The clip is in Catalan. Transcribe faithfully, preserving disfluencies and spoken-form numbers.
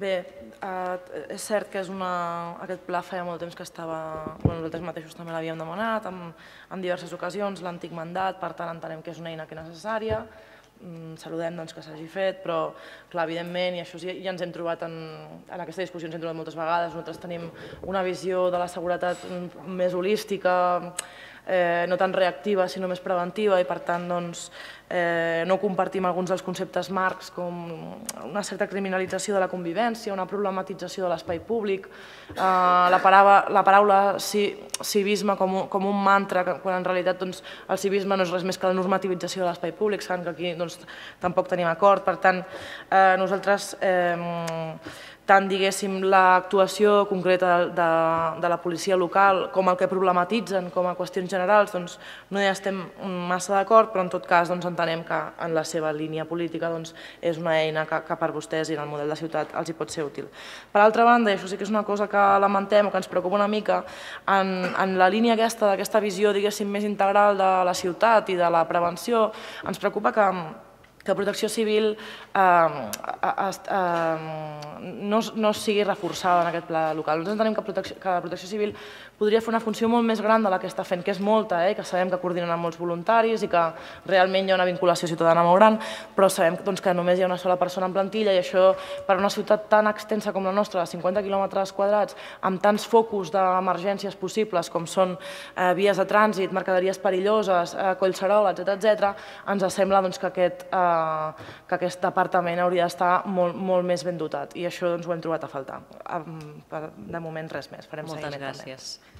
Bé, és cert que aquest pla feia molt temps que estava... Nosaltres mateixos també l'havíem demanat en diverses ocasions, l'antic mandat, per tant entenem que és una eina que és necessària, saludem que s'hagi fet, però clar, evidentment, i això ja ens hem trobat en aquesta discussió, ens hem trobat moltes vegades, nosaltres tenim una visió de la seguretat més holística, no tan reactiva sinó més preventiva, i per tant no compartim alguns dels conceptes marcs com una certa criminalització de la convivència, una problematització de l'espai públic, la paraula civisme com un mantra, quan en realitat el civisme no és res més que la normativització de l'espai públic, saben que aquí tampoc tenim acord. Per tant, nosaltres tant, diguéssim, l'actuació concreta de la policia local com el que problematitzen com a qüestions generals, doncs no hi estem massa d'acord, però en tot cas entenem que en la seva línia política és una eina que per vostès i en el model de ciutat els hi pot ser útil. Per altra banda, i això sí que és una cosa que lamentem o que ens preocupa una mica, en la línia aquesta, d'aquesta visió, diguéssim, més integral de la ciutat i de la prevenció, ens preocupa que que Protecció Civil no sigui reforçada en aquest pla local. Nosaltres entenem que Protecció Civil podria fer una funció molt més gran de la que està fent, que és molta, que sabem que coordinen amb molts voluntaris i que realment hi ha una vinculació ciutadana molt gran, però sabem que només hi ha una sola persona en plantilla i això, per a una ciutat tan extensa com la nostra, de cinquanta quilòmetres quadrats, amb tants focus d'emergències possibles com són vies de trànsit, mercaderies perilloses, Collserola, etcètera, ens sembla que aquest que aquest departament hauria d'estar molt més ben dotat i això ho hem trobat a faltar. De moment res més, farem seguiment també. Moltes gràcies.